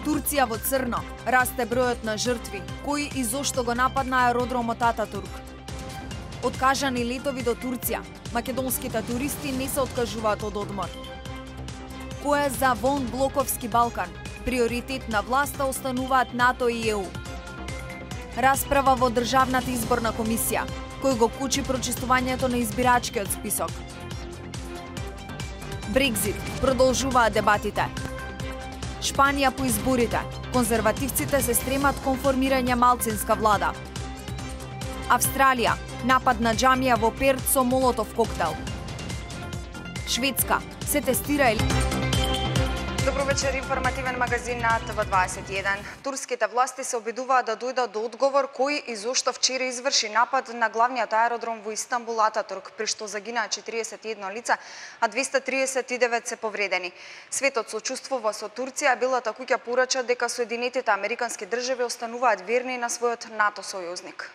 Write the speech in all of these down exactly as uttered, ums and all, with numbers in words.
Турција во црно, расте бројот на жртви, кои и зошто го нападна аеродромот Ататурк. Откажани летови до Турција, македонските туристи не се откажуваат од одмор. Кој е за вон блоковски Балкан? Приоритет на власта остануваат НАТО и Е У. Расправа во Државната изборна комисија, кој го кучи прочистувањето на избирачкиот список. Брекзит, продолжуваат дебатите. Шпанија по изборите, конзервативците се стремат кон формирање малцинска влада. Австралија, напад на џамија во Перт со молотов коктел. Шведска, се тестира или... Добро вечер, информативен магазин на Т В дваесет и еден. Турските власти се обидуваат да дојдат до одговор кој и зошто вчера изврши напад на главниот аеродром во Истанбул Ататурк, при што загинаа четириесет и едно лица, а двеста триесет и девет се повредени. Светот сочувствува со Турција, а Белата куќа порача дека Соединетите Американски држави остануваат верни на својот НАТО сојузник.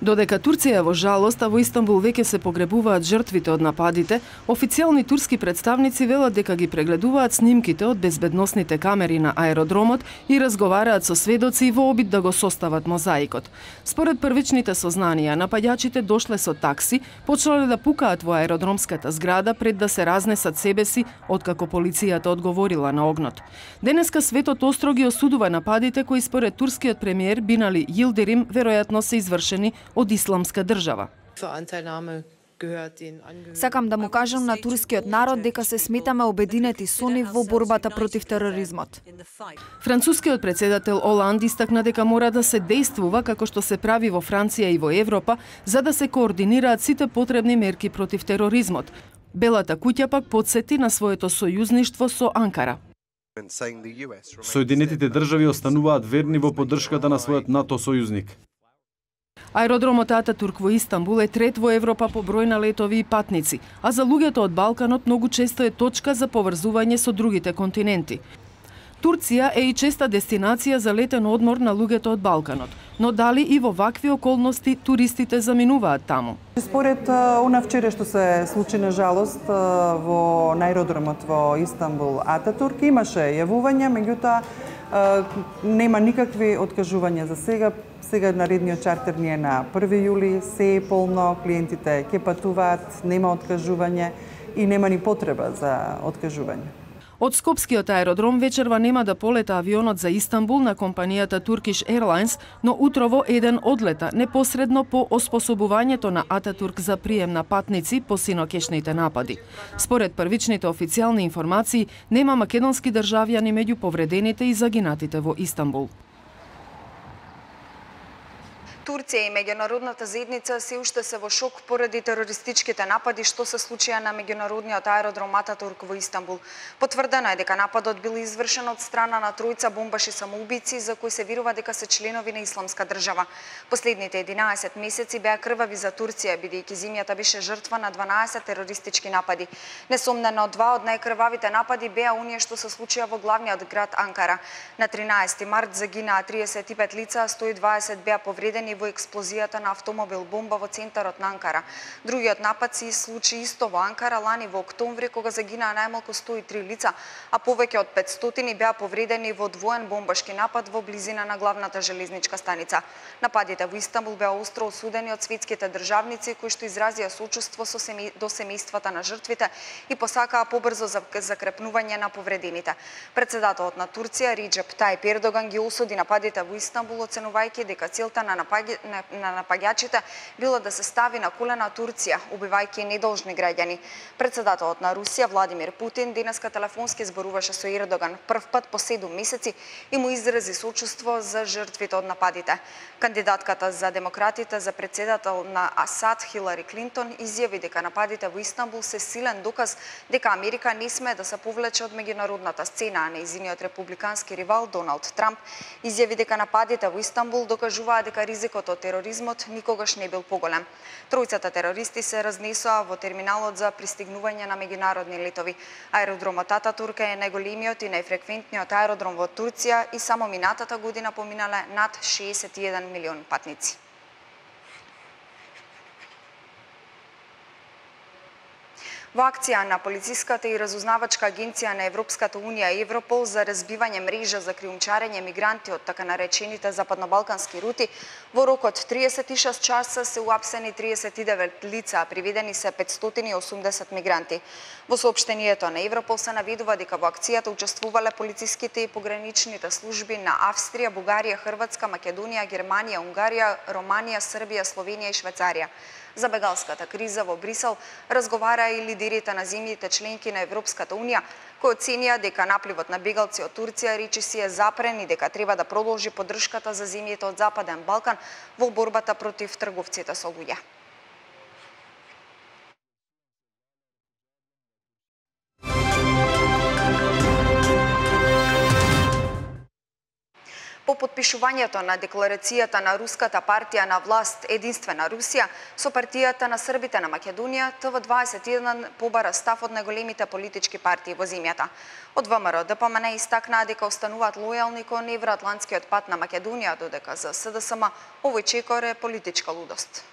Додека Турција во жалост, а во Истанбул веќе се погребуваат жртвите од нападите, официјални турски представници велат дека ги прегледуваат снимките од безбедносните камери на аеродромот и разговараат со сведоци во обид да го состават мозаикот. Според првичните сознанија, нападјачите дошле со такси, почнале да пукаат во аеродромската зграда пред да се разнесат себе си, откако полицијата одговорила на огнот. Денеска светот остро ги осудува нападите кои според турскиот премиер Бинали Йилдирим веројатно се извршени од исламска држава. Сакам да му кажам на турскиот народ дека се сметаме обединети со нив во борбата против тероризмот. Францускиот председател Оланд истакна дека мора да се действува како што се прави во Франција и во Европа, за да се координираат сите потребни мерки против тероризмот. Белата куќа пак потсети на своето сојузништво со Анкара. Соединетите држави остануваат верни во поддршката на својот НАТО сојузник. Аеродромот Ататурк во Истанбул е трет во Европа по број на летови и патници, а за луѓето од Балканот многу често е точка за поврзување со другите континенти. Турција е и честа дестинација за летен одмор на луѓето од Балканот, но дали и во вакви околности туристите заминуваат таму? Според она вчера што се случи на жалост во аеродромот во Истанбул Ататурк имаше јавувања, меѓутоа нема никакви откажувања за сега. Сега наредниот чартер ни е на први јули, се е полно, клиентите ќе патуваат, нема откажување и нема ни потреба за откажување. Од Скопскиот аеродром вечерва нема да полета авионот за Истанбул на компанијата Turkish Airlines, но утрово еден одлета непосредно по оспособувањето на Ататурк за прием на патници по синокешните напади. Според првичните официјални информации, нема македонски државјани меѓу повредените и загинатите во Истанбул. Турција и меѓународната заедница се уште се во шок поради терористичките напади што се случија на меѓународниот аеродром Ататурк во Истанбул. Потврдено е дека нападот бил извршен од страна на тројца бомбаши самоубици за кои се верува дека се членови на исламска држава. Последните единаесет месеци беа крвави за Турција, бидејќи земјата беше жртва на дванаесет терористички напади. Несомнено, два од најкрвавите напади беа оние што се случија во главниот град Анкара. На тринаесети март загинаа триесет и пет лица, а сто и дваесет беа повредени во експлозијата на автомобил бомба во центарот на Анкара. Другиот напад се случи исто во Анкара лани во октомври, кога загинаа најмалку сто и три лица, а повеќе од петстотини беа повредени во двоен бомбашки напад во близина на главната железничка станица. Нападите во Истанбул беа остро осудени од светските државници кои што изразија сочувство со семеј... до семејствата на жртвите и посакаа побрзо закрепнување на повредените. Председателот на Турција Реџеп Тајип Ердоган ги осуди нападите во Истанбул, оценувајќи дека целта на напаѓањето на напаѓачите било да се стави на колена Турција, убивајќи недолжни граѓани. Председателот на Русија Владимир Путин денеска телефонски зборуваше со Ердоган прв пат по седум месеци и му изрази сочувство за жртвите од нападите. Кандидатката за демократите за председател на Асад Хилари Клинтон изјави дека нападите во Истанбул се силен доказ дека Америка не смее да се повлече од меѓународната сцена, а нејзиниот републикански ривал Доналд Трамп изјави дека нападите во Истанбул докажуваат дека ризикот од тероризмот никогаш не бил поголем. Тројцата терористи се разнесоа во терминалот за пристигнување на меѓународни летови. Аеродромот Ататурк е најголемиот и најфреквентниот аеродром во Турција и само минатата година поминале над шеесет и еден милион патници. Во акција на полициската и разузнавачка агенција на Европската унија Европол за разбивање мрежа за криумчарење мигранти од така наречените западнобалкански рути, во рок од триесет и шест часа се уапсени триесет и девет лица, а приведени се петстотини и осумдесет мигранти. Во соопштението на Европол се наведува дека во акцијата учествувале полициските и пограничните служби на Австрија, Бугарија, Хрватска, Македонија, Германија, Унгарија, Романија, Србија, Словенија и Швајцарија. За бегалската криза во Брисел разговара и лидерите на земјите членки на Европската унија, кои оценија дека напливот на бегалци од Турција речиси е запрен и дека треба да продолжи поддршката за земјите од Западен Балкан во борбата против трговците со луѓе. По подпишувањето на декларацијата на Руската партија на власт Единствена Русија со партијата на србите на Македонија, Т В дваесет и еден побара став од најголемите политички партии во земјата. Од ВМРО Д П М Н истакнаа дека остануваат лојални кон евроатлантскиот пат на Македонија, додека за С Д С М овој чекор е политичка лудост.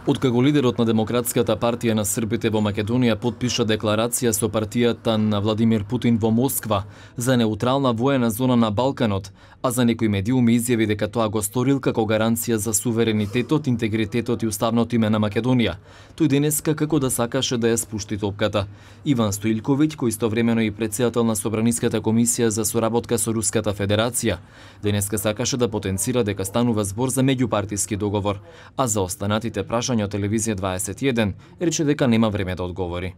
Откако лидерот на Демократската партија на србите во Македонија потпиша декларација со партијата на Владимир Путин во Москва за неутрална воена зона на Балканот, а за некои медиуми изјави дека тоа го сторил како гаранција за суверенитетот, интегритетот и уставното име на Македонија, тој денеска како да сакаше да ја спушти топката. Иван Стоилковиќ, кој истовремено и претседател на Собраниската комисија за соработка со Руската Федерација, денеска сакаше да потенцира дека станува збор за меѓупартиски договор, а за останатите прашања од телевизија дваесет и еден рече дека нема време да одговори.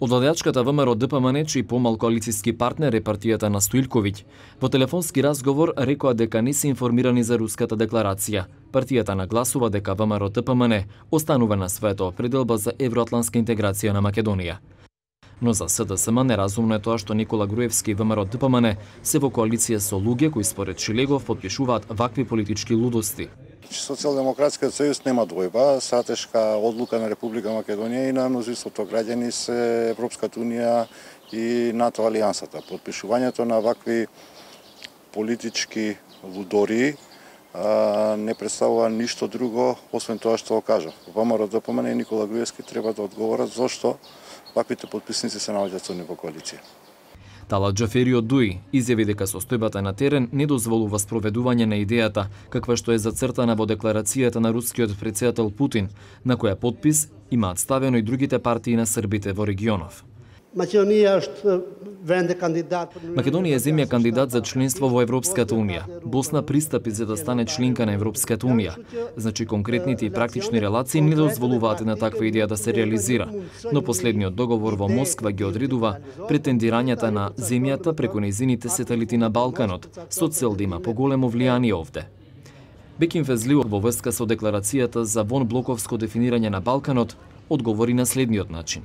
Од владеачката ВМРО Д П М Н, чиј помал коалициски партнер е партијата на Стоилковиќ, во телефонски разговор рекоа дека не се информирани за руската декларација. Партијата нагласува дека ВМРО Д П М Н останува на својата определба за евроатлантска интеграција на Македонија. Но за С Д С М неразумно е тоа што Никола Груевски и ВМРО Д П М Н се во коалиција со луѓе кои според Шилегов подпишуваат вакви политички лудости. Социјалдемократскиот сојуз нема двојба, стратешка одлука на Република Македонија и на мнозинството граѓани се Европската унија и НАТО алијансата. Подпишувањето на вакви политички лудори а, не представува ништо друго освен тоа што го кажав. ВМРО Д П М Н и Никола Груевски треба да одговорат зошто ваквите подписници се наоѓаат со нив во коалиција. Талат Џафери од Дуи изјави дека состојбата на терен не дозволува спроведување на идејата каква што е зацртана во декларацијата на рускиот претседател Путин, на која подпис имаат ставено и другите партии на србите во регионов. Македонија е земја кандидат за членство во Европската унија. Босна пристапи за да стане членка на Европската унија. Значи конкретните и практични релации не дозволуваат на таква идеја да се реализира, но последниот договор во Москва ги одредува претендирањата на земјата преку нејзините сателити на Балканот, со цел да има поголемо влијание овде. Бекин Фезлиов во врска со декларацијата за вонблоковско дефинирање на Балканот одговори на следниот начин.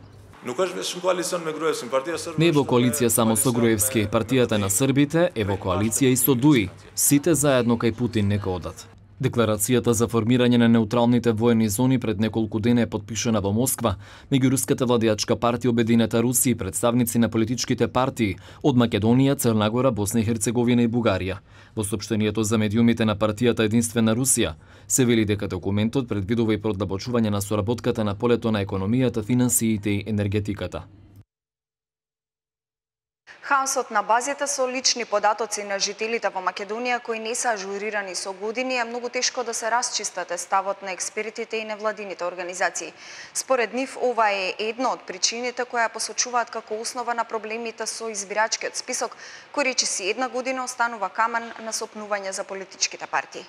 Не е во коалиција само со Груевски, партијата на србите е во коалиција и со Дуи. Сите заедно кај Путин нека одат. Декларацијата за формирање на неутралните воени зони пред неколку дена е подпишана во Москва меѓу руската владеачка партија Обединета Русија и представници на политичките партии од Македонија, Црна Гора, Босна и Херцеговина и Бугарија. Во соопштението за медиумите на партијата Единствена Русија се вели дека документот предвидува и продлабочување на соработката на полето на економијата, финансиите и енергетиката. Хаосот на базите со лични податоци на жителите во Македонија кои не се ажурирани со години е многу тешко да се расчистат е ставот на експертите и невладините организации. Според нив, ова е една од причините која посочуваат како основа на проблемите со избирачкиот список, кој речиси една година останува камен на сопнување за политичките партии.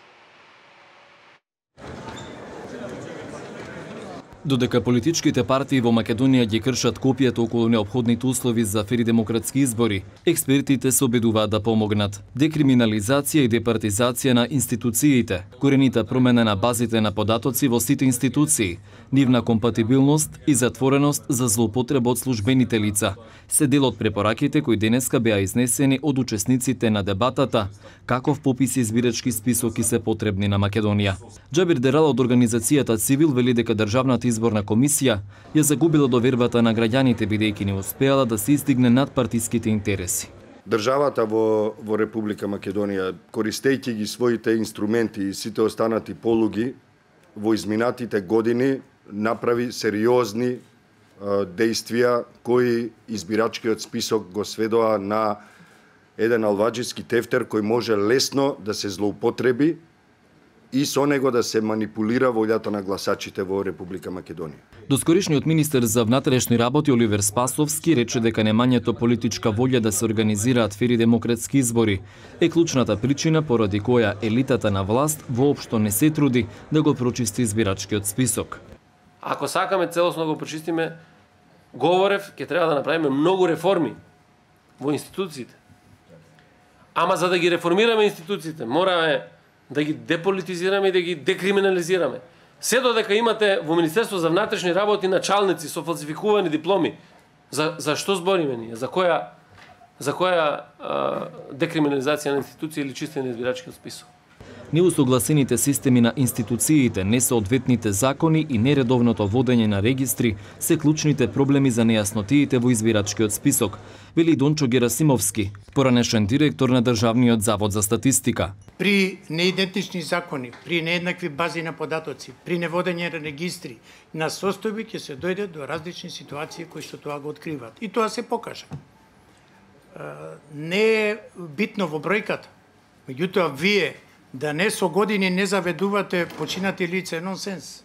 Додека политичките партии во Македонија ги кршат копијата околу неопходните услови за фери демократски избори, експертите се обидуваат да помогнат. Декриминализација и департизација на институциите, коренита промена на базите на податоци во сите институции, нивна компатибилност и затвореност за злоупотреба од службените лица, се дел од препораките кои денеска беа изнесени од учесниците на дебатата каков попис избирачки списоки се потребни на Македонија. Џабир Дерал од организацијата Цивил вели дека државната изборна комисија ја загубила довербата на граѓаните бидејќи не успеала да се издигне над партиските интереси. државата во, во Република Македонија, користејќи ги своите инструменти и сите останати полуги, во изминатите години направи сериозни дејствија кои избирачкиот список го сведоа на еден алваџиски тефтер кој може лесно да се злоупотреби и со него да се манипулира волјата на гласачите во Република Македонија. Доскоришниот министер за внатрешни работи Оливер Спасовски рече дека немањето политичка волја да се организираат фери демократски избори е клучната причина поради која елитата на власт воопшто не се труди да го прочисти избирачкиот список. Ако сакаме целосно да го прочистиме, говорев, ќе треба да направиме многу реформи во институциите. Ама за да ги реформираме институциите, мораме да ги деполитизираме и да ги декриминализираме. Се додека имате во Министерство за внатрешни работи началници со фалсификувани дипломи, за, за што збориме ние? За која, за која а, декриминализација на институција или чистење на избирачкиот список? Неусогласените системи на институциите, несоодветните закони и нередовното водење на регистри се клучните проблеми за нејаснотиите во избирачкиот список, вели Дончо Герасимовски, поранешен директор на Државниот завод за статистика. При неидентични закони, при нееднакви бази на податоци, при неводење на регистри, на состојби ќе се дојде до различни ситуации кои што тоа го откриваат. И тоа се покажа. Не е битно во бројката, меѓутоа вие да не со години не заведувате починати лица е нонсенс.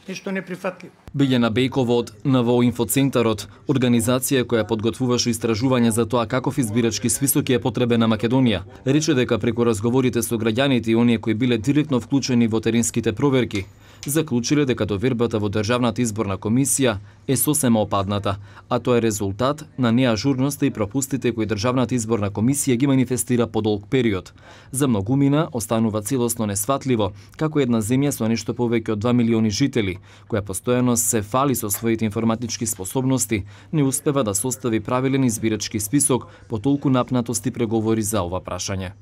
Нешто неприфатливо. Билјана Бејкова од НВО Инфоцентарот, организација која подготвуваше истражување за тоа каков избирачки список е потребен на Македонија, рече дека преку разговорите со граѓаните и оние кои биле директно вклучени во теренските проверки, заклучиле дека довербата во Државната изборна комисија е сосема опадната, а тоа е резултат на неажурноста и пропустите кои Државната изборна комисија ги манифестира по долг период. За многумина останува целосно несватливо како една земја со нешто повеќе од два милиони жители, која постојано се фали со своите информатички способности, не успева да состави правилен избирачки список по толку напнатости преговори за ова прашање.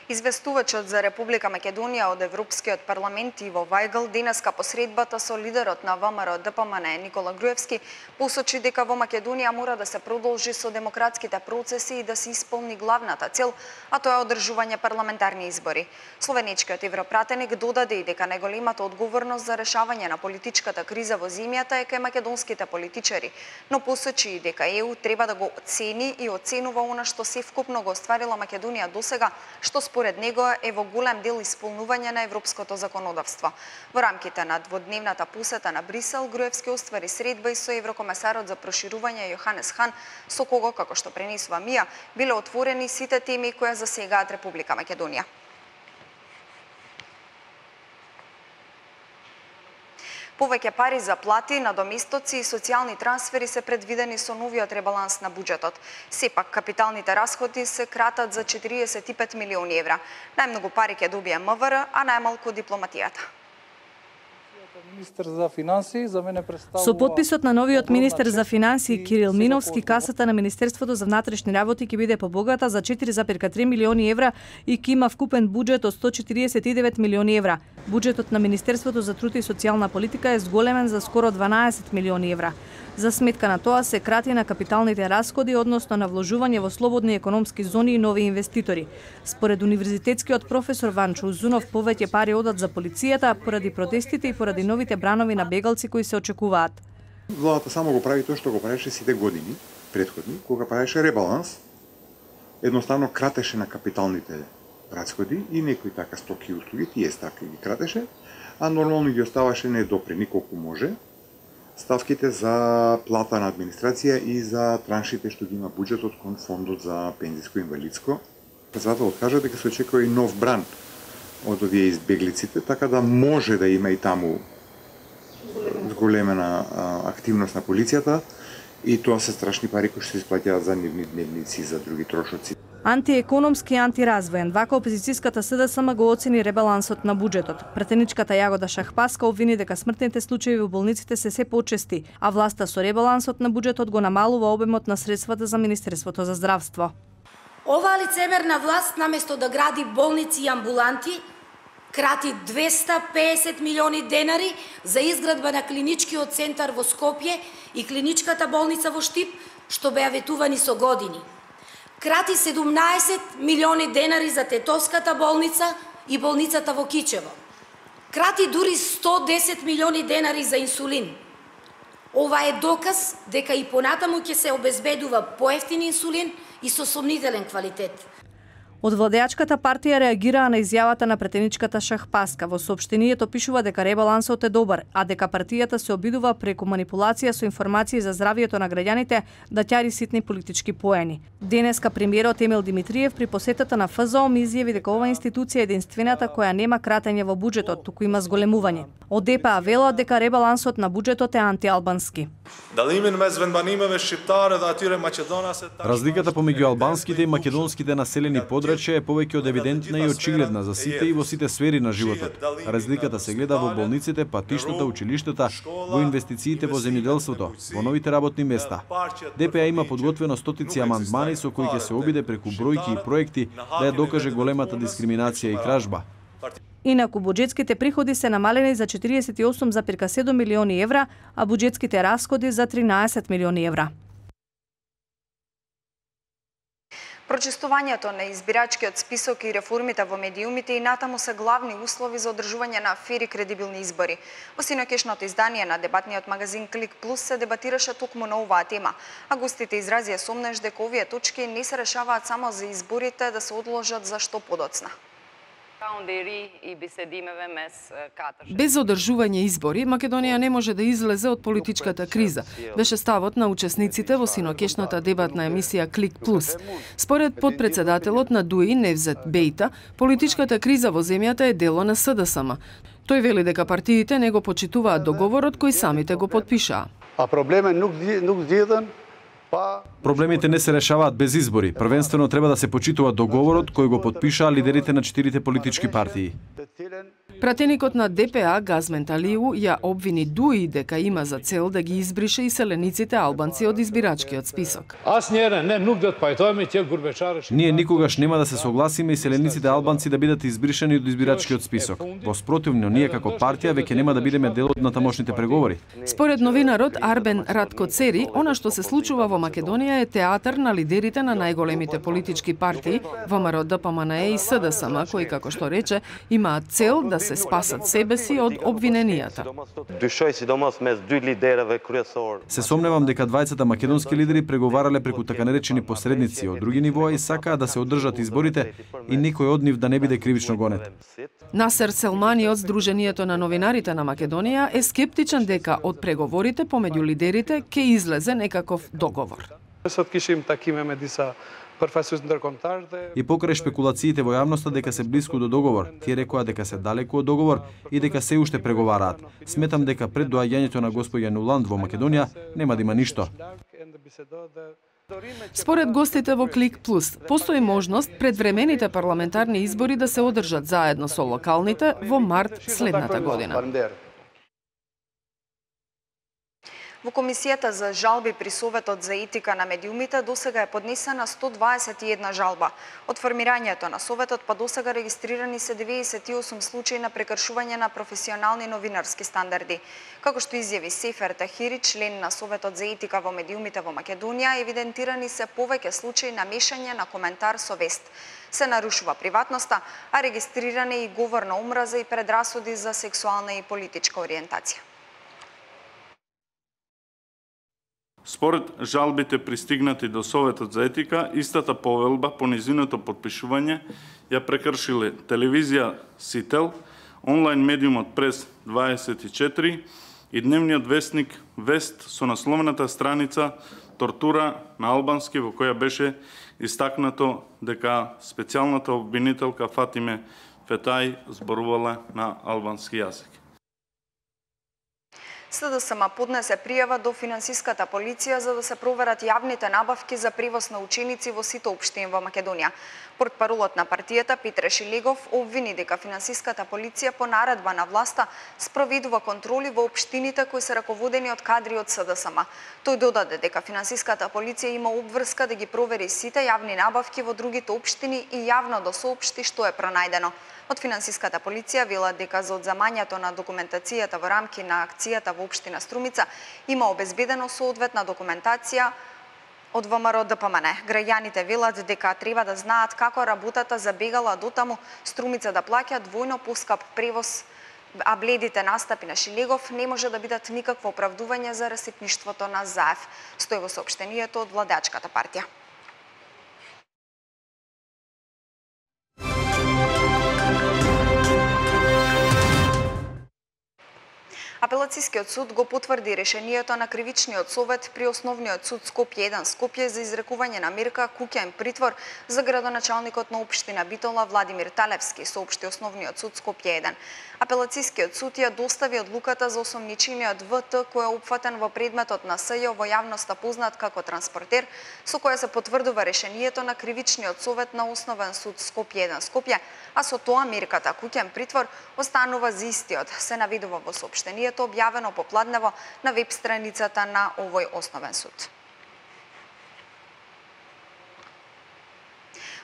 Известувачот за Република Македонија од Европскиот парламент Иво Вајгл денеска по средбата со лидерот на ВМРО Д П М Н Никола Груевски посочи дека во Македонија мора да се продолжи со демократските процеси и да се исполни главната цел, а тоа е одржување парламентарни избори. Словенечкиот европратеник додаде и дека најголемата одговорност за решавање на политичката криза во земјата е кај македонските политичари, но посочи и дека Е У треба да го оцени и оценува она што севкупно го остварила Македонија досега, што според него е во голем дел исполнување на европското законодавство. Во рамките на дводневната посета на Брисел, Груевски оствари средба и со еврокомесарот за проширување Јоханес Хан, со кого, како што пренесува Мија, биле отворени сите теми кои засегаат Република Македонија. Повеќе пари за плати, надоместоци и социјални трансфери се предвидени со новиот ребаланс на буџетот. Сепак, капиталните расходи се кратат за четириесет и пет милиони евра. Најмногу пари ќе добие М В Р, а најмалку дипломатијата. Министер за финансии за мене представува... Со подписот на новиот министер за финансии Кирил Миновски, касата на Министерството за внатрешни работи ќе биде побогата за четири зарез три милиони евра и ќе има вкупен буџет од сто четириесет и девет милиони евра. Буџетот на Министерството за труд и социјална политика е зголемен за скоро дванаесет милиони евра. За сметка на тоа се крати на капиталните расходи, односно на вложување во слободни економски зони и нови инвеститори. Според универзитетскиот професор Ванчо Узунов, повеќе пари одат за полицијата поради протестите и поради новите бранови на бегалци кои се очекуваат. Владата само го прави тоа што го правеше сите години претходни, кога правеше ребаланс, едноставно кратеше на капиталните расходи и некои така стоки и услуги, тие ставки ги кратеше, а нормално ги оставаше недопрени колку може ставките за плата на администрација и за траншите што ги има буџетот кон фондот за пензиско и инвалидско. Председателот кажа дека се очекува и нов бран од овие избеглиците, така да може да има и таму зголемена активност на полицијата и тоа се страшни пари кои што се исплаќаат за нивни дневници и за други трошоци. Антиекономски и антиразвоен, вака опозицијската С Д С М го оцени ребалансот на буџетот. Претеничката Јагода Шахпаска обвини дека смртните случаи во болниците се се почести, а власта со ребалансот на буџетот го намалува обемот на средствата за Министерството за здравство. Оваа лицемерна власт наместо да гради болници и амбуланти, крати двеста песет милиони денари за изградба на клиничкиот центар во Скопје и клиничката болница во Штип, што беа ветувани со години. Крати седумнаесет милиони денари за Тетовската болница и болницата во Кичево. Крати дури сто десет милиони денари за инсулин. Ова е доказ дека и понатаму ќе се обезбедува поевтин инсулин и со сомнителен квалитет. Од владеачката партија реагираа на изјавата на претеничката Шахпаска. Во соопштението пишува дека ребалансот е добар, а дека партијата се обидува преку манипулација со информации за здравието на граѓаните да ќари ситни политички поени. Денеска премиерот Емил Димитриев при посетата на Ф З О М изјави дека ова институција е единствената која нема кратење во буџетот, туку има зголемување. Од Д П А велат дека ребалансот на буџетот е антиалбански. Разликата помеѓу албанските и македонските населени подрачја е повеќе од евидентна и очигледна за сите и во сите сфери на животот. Разликата се гледа во болниците, патиштата, училиштата, во инвестициите во земјоделството, во новите работни места. Д П А има подготвено стотици амандмани со кои ќе се обиде преку бројки и проекти да ја докаже големата дискриминација и кражба. Инаку буџетските приходи се намалени за четиридесет и осум зарез седум милиони евра, а буџетските расходи за тринаесет милиони евра. Прочистувањето на избирачкиот список и реформите во медиумите и натаму се главни услови за одржување на фер и кредибилни избори. Во синокешното издание на дебатниот магазин Клик Плюс се дебатираше токму на оваа тема, а гостите изразија сомнеж дека овие точки не се решаваат само за изборите да се одложат за што подоцна. Без одржување избори, Македонија не може да излезе од политичката криза, беше ставот на учесниците во синокешната дебатна емисија Клик Плюс. Според подпредседателот на Д У И Невзет Бејта, политичката криза во земјата е дело на С Д С М. Тој вели дека партиите не го почитуваат договорот кој самите го потпишаа. А проблемот nuk zgjidhen. Проблемите не се решаваат без избори. Првенствено треба да се почитува договорот кој го потпишаа лидерите на четирите политички партии. Пратеникот на Д П А Газмен Талиу ја обвини Д У И дека има за цел да ги избрише иселениците албанци од избирачкиот список. Ние никогаш нема да се согласиме иселениците албанци да бидат избришени од избирачкиот список. Во спротивно, ние како партија веќе нема да бидеме дел од натамошните преговори. Според новинарот Арбен Раткоцери, она што се случува во Македонија е театар на лидерите на најголемите политички партии, ВМРО, Д П М Н Е и С Д С М, кои, како што рече, имаат цел да се спасат себе си од обвиненијата. Се сомневам дека двајцата македонски лидери преговарале преку така наречени посредници од други нивоа и сакаа да се одржат изборите и никој од нив да не биде кривично гонет. Насер Селмани од Сдруженијето на новинарите на Македонија е скептичен дека од преговорите помеѓу лидерите ќе излезе некаков договор. И покрај шпекулациите во јавноста дека се блиску до договор, тие рекоа дека се далеку од договор и дека се уште преговараат. Сметам дека пред доаѓањето на господја Нуланд во Македонија нема да има ништо. Според гостите во Клик Плюс, постои можност предвремените парламентарни избори да се одржат заедно со локалните во март следната година. Во Комисијата за жалби при Советот за етика на медиумите досега е поднесена сто дваесет и една жалба. Од формирањето на Советот па досега регистрирани се деветдесет и осум случаи на прекршување на професионални новинарски стандарди. Како што изјави Сефер Тахири, член на Советот за етика во медиумите во Македонија, евидентирани се повеќе случаи на мешање на коментар со вест. Се нарушува приватноста, а регистриран е и говор на омраза и предрасуди за сексуална и политичка ориентација. Според жалбите пристигнати до Советот за етика, истата повелба по низиното подпишување ја прекршиле телевизија Сител, онлайн медиумот Прес дваесет и четири и дневниот вестник Вест со насловната страница Тортура на албански, во која беше истакнато дека специјалната обвинителка Фатиме Фетај зборувала на албански јазик. С Д С М поднесе пријава до финансиската полиција за да се проверат јавните набавки за превоз на ученици во сите општини во Македонија. Портпаролот на партијата Петре Шилегов обвини дека финансиската полиција по наредба на власта спроведува контроли во општините кои се раководени од кадри од С Д С М. Тој додаде дека финансиската полиција има обврска да ги провери сите јавни набавки во другите општини и јавно да соопшти што е пронајдено. Од финансиската полиција велат дека за одземањето на документацијата во рамки на акцијата во општина Струмица има обезбедено соодветна документација Од ВМРО Д П М Н, граѓаните велат дека треба да знаат како работата забегала дотаму Струмица да плаќа двојно поскап превоз, а бледите настапи на Шилегов не може да бидат никакво оправдување за расипништвото на ЗАЕФ, стои во соопштението од владачката партија. Апелацискиот суд го потврди решението на Кривичниот совет при Основниот суд Скопје еден Скопје за изрекување на мерка куќен притвор за градоначалникот на општина Битола Владимир Талевски, соопшти Основниот суд Скопје еден. Апелацискиот суд ја достави одлуката за осомничениот В Т кој е опфатен во предметот на С Ј во јавноста познат како транспортер, со која се потврдува решението на Кривичниот совет на Основен суд Скопје еден Скопје, а со тоа мерката куќен притвор останува за истиот, се наведува во соопштението објавено попладнево на веб страницата на овој Основен суд.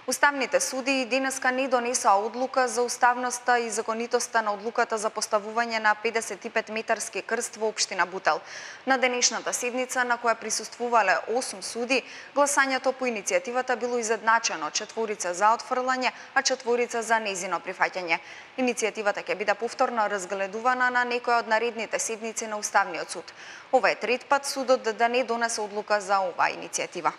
Уставните суди денеска не донесоа одлука за уставноста и законитоста на одлуката за поставување на педесет и пет метарски крст во општина Бутел. На денешната седница, на која присуствувале осум суди, гласањето по иницијативата било изедначено, четворица за отфрлање, а четворица за незино прифаќање. Иницијативата ќе биде повторно разгледувана на некоја од наредните седници на Уставниот суд. Ова е трет пат судот да не донесе одлука за оваа иницијатива.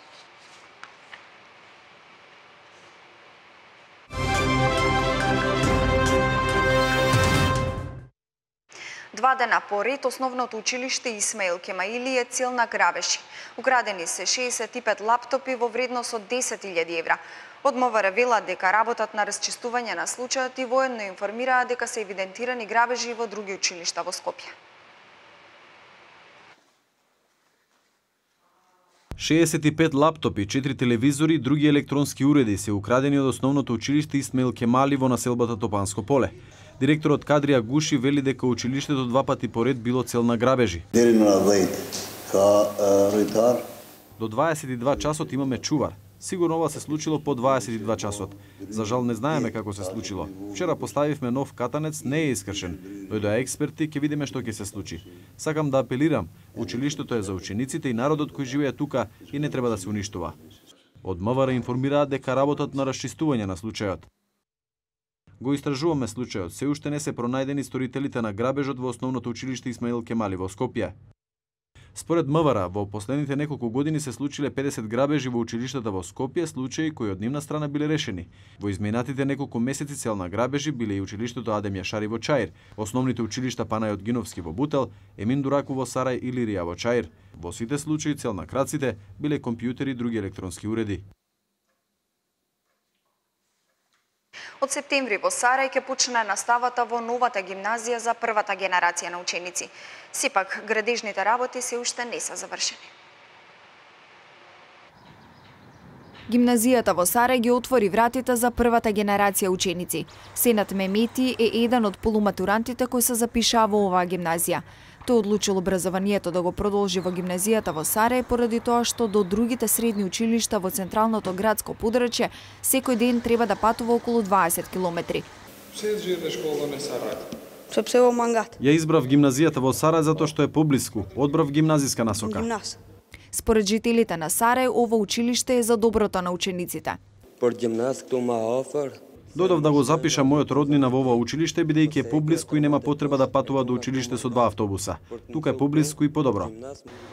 Два дена поред, основното училиште Исмаил Кемаили е цел на грабежи. Украдени се шеесет и пет лаптопи во вредност од десет илјади евра. Од МВР велат дека работат на расчистување на случајот и воедно информираат дека се евидентирани грабежи во други училишта во Скопје. шеесет и пет лаптопи, четири телевизори и други електронски уреди се украдени од основното училиште Исмаил Кемали во населбата Топанско поле. Директорот Кадрија Гуши вели дека училиштето два пати поред било цел на грабежи. До дваесет и два часот имаме чувар. Сигурно ова се случило по дваесет и два часот. За жал не знаеме како се случило. Вчера поставивме нов катанец, не е искршен. Дојдоа експерти, ќе видиме што ќе се случи. Сакам да апелирам, училиштето е за учениците и народот кој живее тука и не треба да се уништува. Од МВР информираат дека работат на расчистување на случајот. Го истражуваме случајот, се уште не се пронајдени сторителите на грабежот во основното училиште Исмаил Кемали во Скопје. Според МВР, во последните неколку години се случиле педесет грабежи во училиштата во Скопје, случаи кои од нивна страна биле решени. Во изминатите неколку месеци цел на грабежи биле и училиштето Адем Јашари во Чаир, основните училишта Панајот Гиновски во Бутел, Емин Дураку во Сарај и Лирија во Чаир. Во сите случаи цел на крадците биле компјутери и други електронски уреди. Од септември во Сарај ќе почне наставата во новата гимназија за првата генерација на ученици. Сепак, градежните работи се уште не се завршени. Гимназијата во Сарај ги отвори вратите за првата генерација ученици. Сенат Мемети е еден од полуматурантите кои се запишаа во оваа гимназија. Тој одлучил образованието да го продолжи во гимназијата во Сарај поради тоа што до другите средни училишта во централното градско подрачје секој ден треба да патува околу дваесет километри. Ја избрав гимназијата во Сарај затоа што е поблиску, одбрав гимназиска насока. Според жителите на Сарај, ова училиште е за доброто на учениците. Дојдов да го запишам мојот роднина во ова училиште, бидејќи е поблиску и нема потреба да патува до училиште со два автобуса. Тука е поблиску и подобро.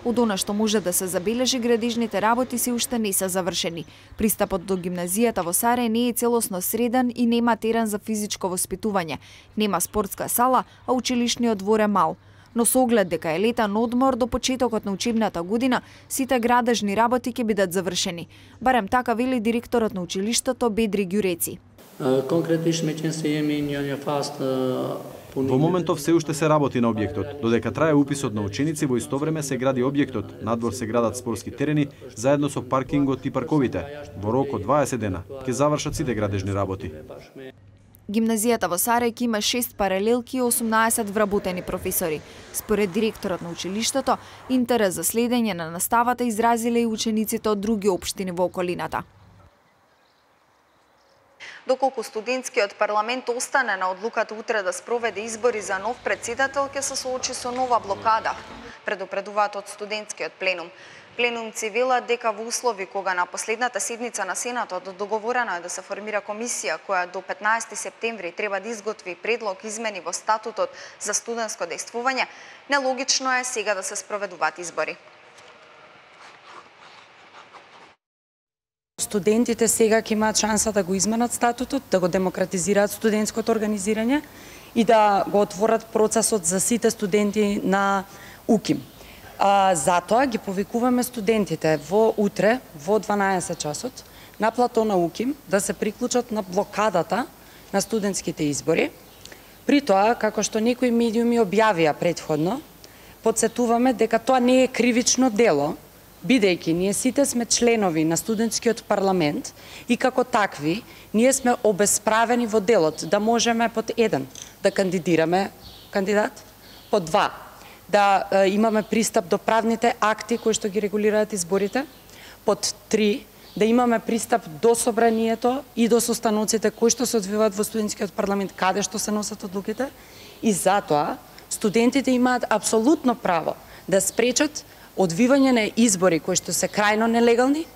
Од она што може да се забележи, градежните работи се уште не се завршени. Пристапот до гимназијата во Сарај не е целосно среден и нема терен за физичко воспитување. Нема спортска сала, а училишниот двор е мал. Но со оглед дека е летен одмор до почетокот на учебната година, сите градежни работи ќе бидат завршени. Барем така вели директорот на училиштето Бедри Ѓуреци. Во моментов се уште се работи на објектот, додека трае уписот на ученици, во исто време се гради објектот, надвор се градат спортски терени, заедно со паркингот и парковите. Во рок од дваесет дена ќе завршат сите градежни работи. Гимназијата во Сарај ќе има шест паралелки и осумнаесет вработени професори. Според директорот на училиштето, интерес за следење на наставата изразиле и учениците од други општини во околината. Доколку студентскиот парламент остане на одлуката утре да спроведе избори за нов претседател, ќе се соочи со нова блокада, предупредуваат од студентскиот пленум. Пленумци велат дека во услови кога на последната седница на Сенатот договорено е да се формира комисија која до петнаесети септември треба да изготви предлог измени во статутот за студентско дејствување, нелогично е сега да се спроведуваат избори. Студентите сега ќе имаат шанса да го изменат статутот, да го демократизираат студентското организирање и да го отворат процесот за сите студенти на УКИМ. А, затоа ги повикуваме студентите во утре во дванаесет часот на плато на УКИМ да се приклучат на блокадата на студентските избори. При тоа, како што некои медиуми објавија претходно, подсетуваме дека тоа не е кривично дело, бидејќи ние сите сме членови на студентскиот парламент и како такви ние сме обесправени во делот да можеме под еден да кандидираме кандидат, под два да е, имаме пристап до правните акти кои што ги регулираат изборите, под три да имаме пристап до собранието и до состаноците кои што се одвиваат во студентскиот парламент каде што се носат одлуките, и затоа студентите имаат апсолутно право да спречат одвивање на избори кои што се крајно нелегални.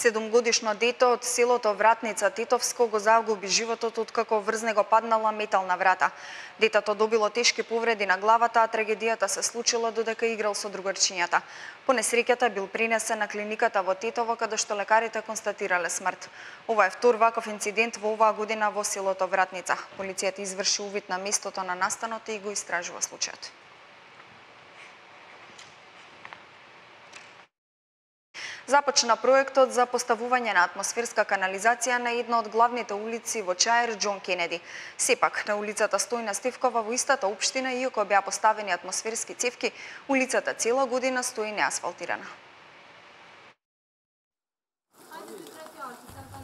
Седумгодишно дете од селото Вратница, Тетовско, го загуби животот откако врз него паднала метална врата. Детето добило тешки повреди на главата, а трагедијата се случила додека играл со другарчињата. По несреќата бил пренесен на клиниката во Тетово, каде што лекарите констатирале смрт. Ова е втор ваков инцидент во оваа година во селото Вратница. Полицијата изврши увид на местото на настанот и го истражува случајот. Започна проектот за поставување на атмосферска канализација на една од главните улици во Чаир, Џон Кенеди. Сепак, на улицата Стојна Стевкова во истата општина, иако беа поставени атмосферски цевки, улицата цела година стои неасфалтирана.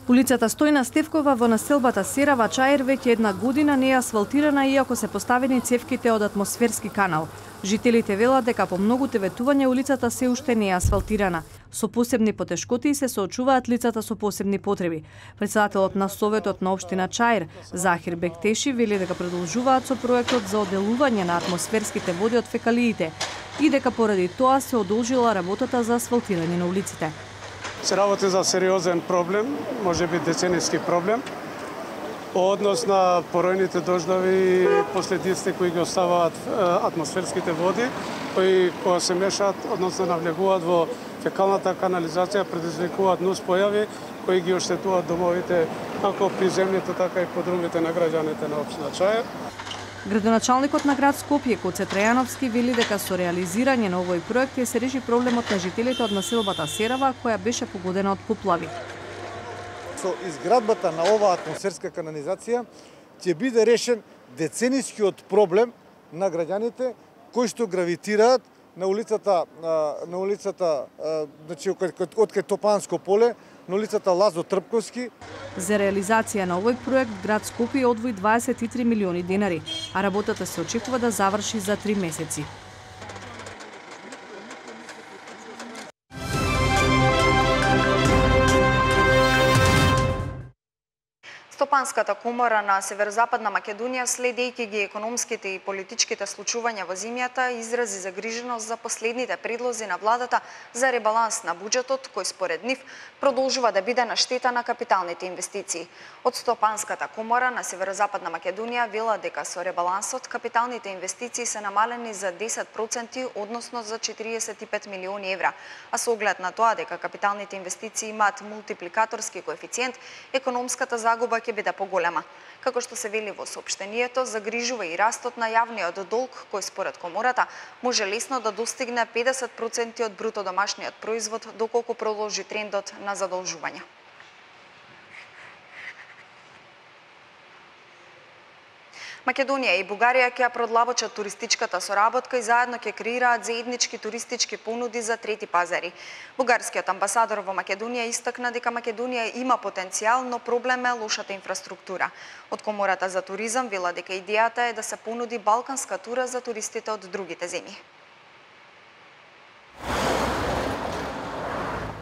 Улицата Стојна Стевкова во населбата Серава, Чаир, веќе една година не е асфалтирана, иако се поставени цевките од атмосферски канал. Жителите велат дека по многуте ветувања улицата се уште не е асфалтирана. Со посебни потешкоти се соочуваат лицата со посебни потреби. Председателот на Советот на општина Чаир, Захир Бектеши, вели дека продолжуваат со проектот за оделување на атмосферските води од фекалиите и дека поради тоа се одолжила работата за асфалтирање на улиците. Се работи за сериозен проблем, можеби деценијски проблем, по однос на поројните дождови и последиците кои ги оставаат атмосферските води, кои кога се мешаат, односно навлегуваат во фекалната канализација, предизвикуваат нус појави кои ги оштетуваат домовите како приземните, така и подрумите на граѓаните на општина Чаир. Градоначалникот на град Скопје, Коце Трајановски, вели дека со реализирање на овој проект ќе се реши проблемот на жителите од населбата Серава, која беше погодена од поплави. Со изградбата на оваа атмосферска канализација ќе биде решен деценијскиот проблем на граѓаните кои што гравитираат на улицата на улицата значи од кај Топанско поле, на улицата Лазо Трпковски. За реализација на овој проект град Скопје одвои дваесет и три милиони денари, а работата се очекува да заврши за три месеци. Стопанската комора на Северозападна Македонија, следејќи ги економските и политичките случувања во земјата, изрази загриженост за последните предлози на владата за ребаланс на буџетот, кој според нив продолжува да биде на штета на капиталните инвестиции. Од Стопанската комора на Северозападна Македонија вела дека со ребалансот капиталните инвестиции се намалени за десет проценти, односно за четириесет и пет милиони евра, а со оглед на тоа дека капиталните инвестиции имаат мултипликаторски коефициент, економската загуба ќе биде поголема. Како што се вели во соопштението, загрижува и растот на јавниот долг, кој според комората може лесно да достигне педесет проценти од бруто домашниот производ доколку продолжи трендот на задолжување. Македонија и Бугарија ќе продлабочат туристичката соработка и заедно ќе креираат заеднички туристички понуди за трети пазари. Бугарскиот амбасадор во Македонија истакна дека Македонија има потенцијал, но проблем е лошата инфраструктура. Од Комората за туризам вела дека идејата е да се понуди балканска тура за туристите од другите земји.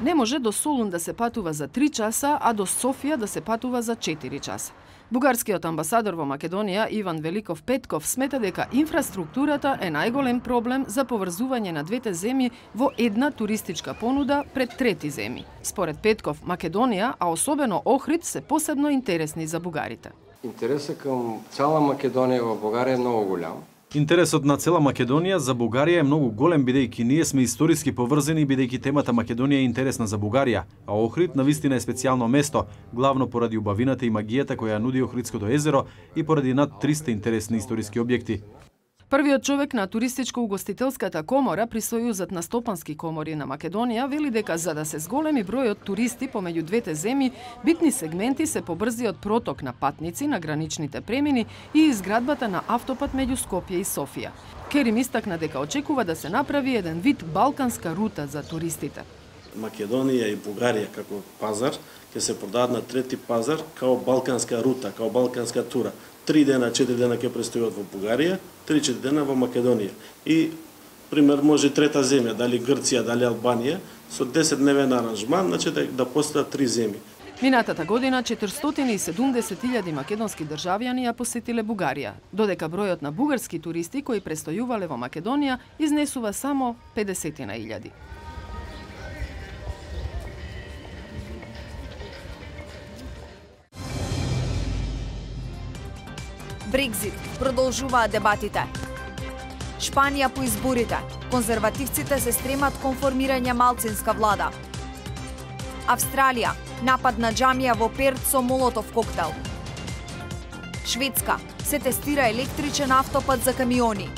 Не може до Солун да се патува за три часа, а до Софија да се патува за четири часа. Бугарскиот амбасадор во Македонија Иван Великов Петков смета дека инфраструктурата е најголем проблем за поврзување на двете земји во една туристичка понуда пред трети земји. Според Петков, Македонија, а особено Охрид, се посебно интересни за бугарите. Интересот кон цела Македонија во Бугарија е многу голем. Интересот на цела Македонија за Бугарија е многу голем, бидејќи ние сме историски поврзани, бидејќи темата Македонија е интересна за Бугарија, а Охрид навистина е специјално место, главно поради убавината и магијата која нуди Охридското езеро и поради над триста интересни историски објекти. Првиот човек на туристичко-угостителската комора при Сојузот на стопански комори на Македонија вели дека за да се зголеми бројот туристи помеѓу двете земји, битни сегменти се побрзиот проток на патници на граничните премини и изградбата на автопат меѓу Скопје и Софија. Керим истакна дека очекува да се направи еден вид балканска рута за туристите. Македонија и Бугарија како пазар ќе се продадат на трети пазар као балканска рута, као балканска тура. Три дена, четири дена ќе престојат во Бугарија, три-четири дена во Македонија. И, пример, може трета земја, дали Грција, дали Албанија, со десетдневен аранжман, значи да, да постојат три земји. Минатата година четиристотини и седумдесет илјади македонски државјани ја посетиле Бугарија, додека бројот на бугарски туристи кои престојувале во Македонија изнесува само педесетина илјади. Брекзит, продолжуваат дебатите. Шпанија по изборите. Конзервативците се стремат кон формирање малцинска влада. Австралија, напад на џамија во Перт со молотов коктел. Шведска, се тестира електричен автопат за камиони.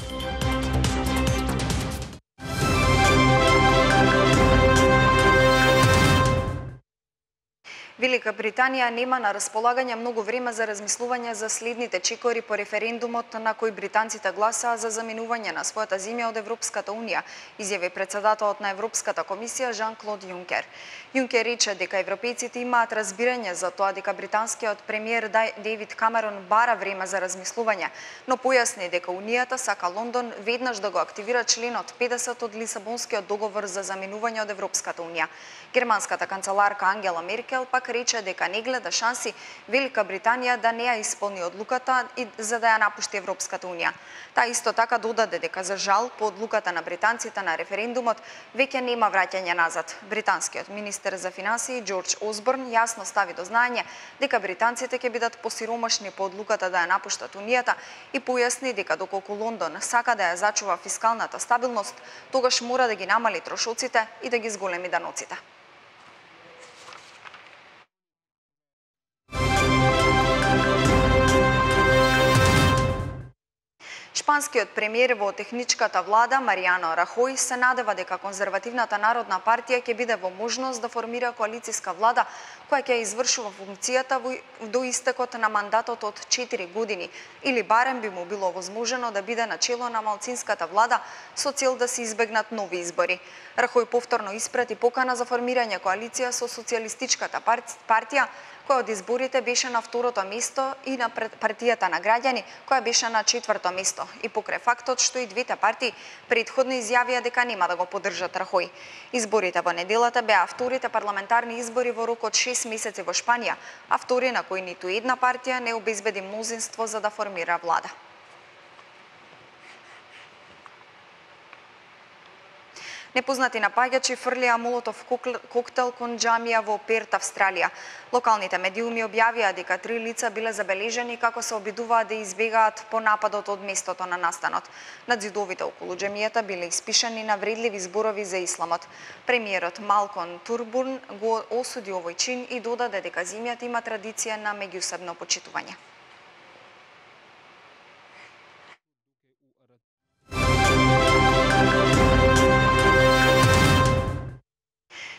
Велика Британија нема на располагање многу време за размислување за следните чекори по референдумот на кој британците гласаа за заминување на својата земја од Европската унија, изјави претседателот на Европската комисија Жан-Клод Јункер. Јункер рече дека европејците имаат разбирање за тоа дека британскиот премиер Дејвид Камерон бара време за размислување, но појасни дека унијата сака Лондон веднаш да го активира членот педесет од Лисабонскиот договор за заминување од Европската унија. Германската канцеларка Ангела Меркел пак рече дека не гледа шанси Велика Британија да не ја исполни одлуката и за да ја напушти Европската унија. Таа исто така додаде дека за жал по одлуката на британците на референдумот веќе нема враќање назад. Британскиот министер за финансии Џорџ Осборн јасно стави до знаење дека британците ќе бидат посиромашни по одлуката да ја напуштат унијата и појасни дека доколку Лондон сака да ја зачува фискалната стабилност, тогаш мора да ги намали трошоците и да ги зголеми даноците. Шпанскиот премиер во техничката влада Маријано Рахој се надева дека конзервативната народна партија ќе биде во можност да формира коалициска влада која ќе извршува функцијата до истекот на мандатот од четири години или барем би му било возможено да биде начело на малцинската влада со цел да се избегнат нови избори. Рахој повторно испрати покана за формирање коалиција со социјалистичката партија која од изборите беше на второто место и на партијата на граѓани која беше на четврто место и покрај фактот што и двете партии претходно изјавија дека нема да го поддржат Рахој. Изборите во неделата беа вторите парламентарни избори во рок од шест месеци во Шпанија, а втори на кој ниту една партија не обезбеди мнозинство за да формира влада. Непознати напаѓачи фрлија молотов коктел кон џамија во Перт, Австралија. Локалните медиуми објавија дека три лица биле забележани како се обидуваат да избегаат по нападот од местото на настанот. Над зидовите околу џамијата биле испишани навредливи зборови за исламот. Премиерот Малкон Турбурн го осуди овој чин и додаде дека земјата има традиција на меѓусебно почитување.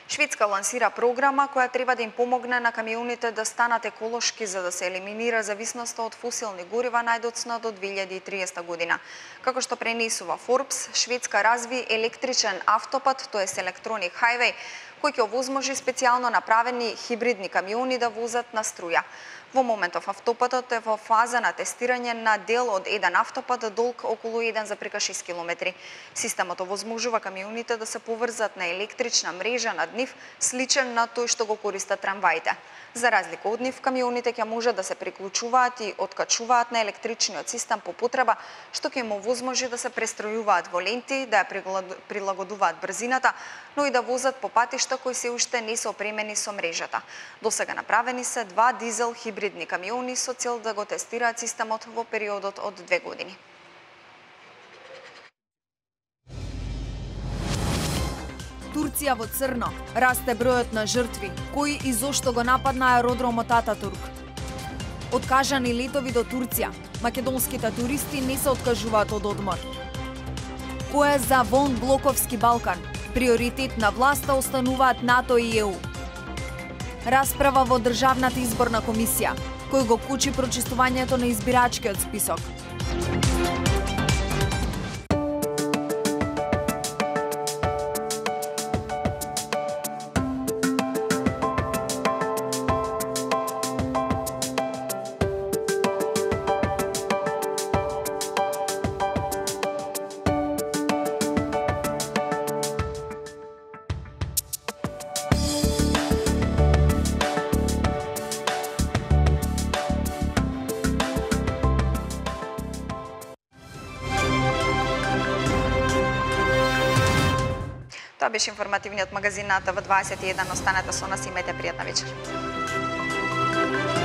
Шведска лансира програма која треба да им помогне на камионите да станат еколошки за да се елиминира зависноста од фосилни горива најдоцна до две илјади и триесета година. Како што пренесува Forbes, Шведска разви електричен автопат, тоест електроник хајвеј, кој ќе овозможи специјално направени хибридни камиони да возат на струја. Во моментов автопатот е во фаза на тестирање на дел од еден автопат долг околу еден запирка шест километри. Системот овозможува камионите да се поврзат на електрична мрежа над нив, сличен на тој што го користат трамваите. За разлика од нив, камионите ќе може да се приклучуваат и откачуваат на електричниот систем по потреба, што ќе им овозможи да се престројуваат во ленти, да ја прилагодуваат брзината, но и да возат по патишта кои се уште не се опремени со мрежата. Досега направени се два дизел хибридни камиони со цел да го тестираат системот во периодот од две години. Турција во црно, расте бројот на жртви, кои и зошто го нападна аеродромот Ататурк. Откажани летови до Турција, македонските туристи не се откажуваат од одмор. Кој е за вон блоковски Балкан? Приоритет на власта остануваат НАТО и Е У. Расправа во Државната изборна комисија, кој го кучи прочистувањето на избирачкиот список. Тоа беше информативниот магазин на Т В дваесет и еден. Останете со нас и имајте пријатна вечер.